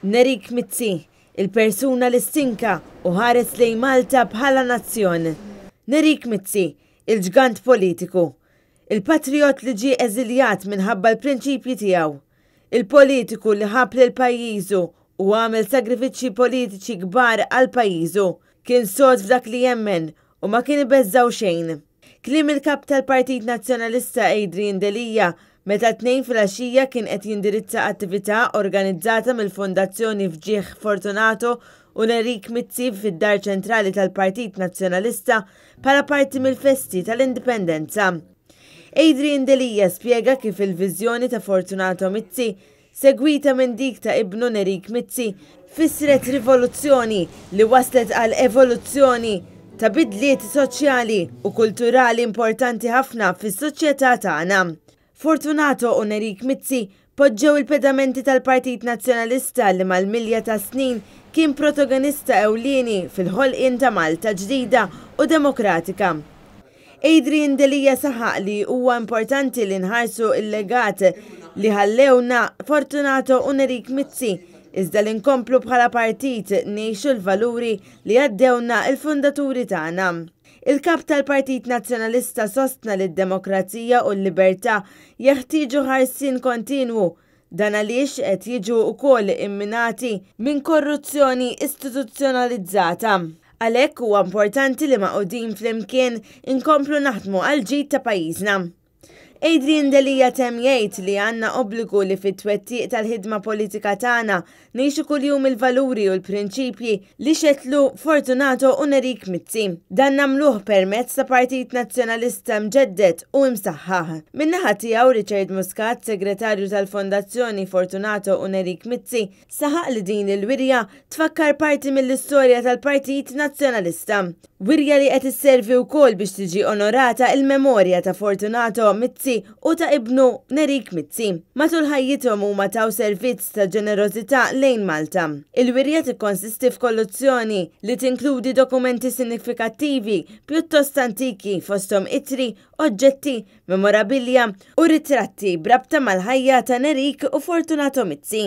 Nerik Mizzi, il-persuna li stinka u ħares lejn Malta bħala nazzjon. Nerik Mizzi, il-ġgant politiku. Il-patrijott li ġie eżiljat minħabba l-prinċipji tiegħu. Il-politiku li ħabb lil pajjiżu u għamel sagrifiċċji politiċi kbar għal pajjiżu. Kien sod f'dak li jemmen u ma kien ibeżżgħu xejn. Kliem il-Kap tal-Partit Nazzjonalista Adrian Delia meta t-Tnejn filgħaxija kien qed jindirizza attività organizzata mill-Fondazzjoni F'Ġieħ Fortunato u Nerik Mizzi fid-Dar Ċentrali tal-Partit Nazzjonalista bħala parti mill-festi tal-Indipendenza. Adrian Delia spjega kif il-viżjoni ta' Fortunato Mizzi, segwita minn dik ta' ibnu Nerik Mizzi, fissret rivoluzzjoni li waslet għal evoluzzjoni ta' bidliet soċjali u kulturali importanti ħafna fis-soċjetà tagħna. Fortunato u Nerik Mizzi poġġew il-pedamenti tal-Partit Nazzjonalista li mal-milja tas-snin kien protagonista ewlieni fil-ħolqien ta' Malta ġdida u demokratika. Adrian Delia saħaq li huwa importanti li nħarsu l-legat li ħallewna Fortunato u Nerik Mizzi, iżda li nkomplu bħala partit ngħixu l-valuri li għaddewna l-fundaturi tagħna. Il-Kap tal-Partit Nazzjonalista sostna li d-demokrazija u l-libertà jeħtieġu ħarsien kontinwu, dan għaliex qed jiġu wkoll imminati minn korruzzjoni istituzzjonalizzata. Għalhekk huwa importanti li magħqudin flimkien inkomplu naħdmu għall-ġid ta' pajjiżna. Adrian Delia temm jgħid li għandna obbligu li fit-twettiq tal-ħidma politika tagħna ngħixu kuljum il-valuri u l-prinċipji li xetlu Fortunato u Nerik Mizzi. Dan nagħmluh permezz ta' Partit Nazzjonalista mġedded u imsaħħaħ. Min-naħa tiegħu Richard Muscat, Segretarju tal-Fondazzjoni Fortunato u Nerik Mizzi, Saħaq li din il-wirja tfakkar parti mill-istorja tal-Partit Nazzjonalista. Wirja li qed isservi wkoll biex tiġi onorata il-memorja ta' Fortunato Mizzi u ta' ibnu Nerik Mizzi. Matul ħajjithom huma taw servizz ta' ġenerożità lejn Malta. Il-wirja tikkonsisti f'kolluzzjoni li tinkludi dokumenti sinifikattivi pjuttost antiki fosthom ittri, oġġetti, memorabilja u ritratti b'rabta mal-ħajja ta' Nerik u Fortunato Mizzi.